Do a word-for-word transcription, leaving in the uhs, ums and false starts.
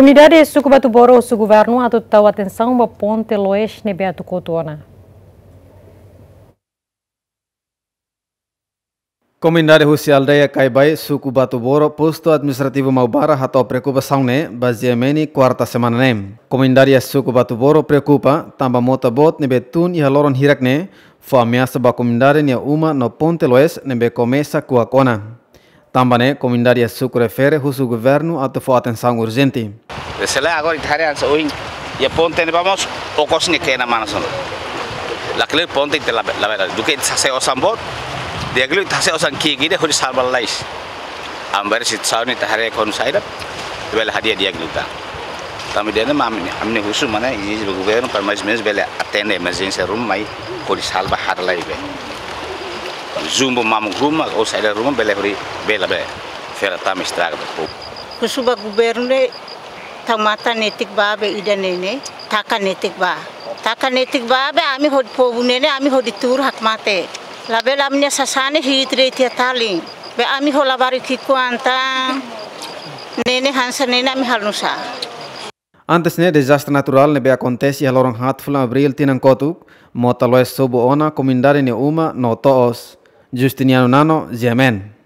Komunidade suku Batuboro husu governu atu tau atensaun ba ponte Loes ne'ebé atu kotu ona. Komunidade husi aldeia Kaibai, suku Batuboro, postu administrativu Maubara, hato'o preokupasaun ne'e ba GMN kuarta semana ne'e. Komunidade suku Batuboro preokupa tanba mota boot ne'ebé tun iha loron hirak ne'e fó ameasa ba komunidade nia uma no ponte Loes ne'ebé komesa kuak ona. Tanba ne'e, komunidade suku refere husu governu atu fó atensaun urjente. Se lae agora ita haree hanesan ohin, iha ponte ne'ebá mós okos ne'e kena mana sona. Lakleur ponte ita labele, labele, duké ita hasai osan boot, di'ak liu ita hasai osan ki'ik ida hodi salva lalais. Agora situasaun ne'e ita haree kona-ba saida, bele hadi'a di'ak liután. Tanba ida-ne'e mak ami, ami husu mana, ezije ba governu para mais ou menus bele atende emerjénsia ruma mai, hodi salva hara lai be. Zumbu mamuk ruma, ou saida ruma, bele hodi, bele be. Fera tama estraga ba povu. Husu ba governu ne'e, tau matan netik ba be ida-ne'e ne'e, taka netik ba. Taka netik ba be ami hodi povu ne'e ne'e, ami hodi tuur hakmatek. Labele ami-nia sasán ne'e hi'it de'it iha talin. Be ami ho labarik ki'ik-oan tan, ne'e ne'e hanesan ne'e ne'e ami halo nusá. Antes ne'e dezastre naturál ne'ebé akontese iha loron haat fulan Abríl tinan kotuk, mota Loes sobu ona komunidade nia uma no to'os. Justiniano Nano, GMN.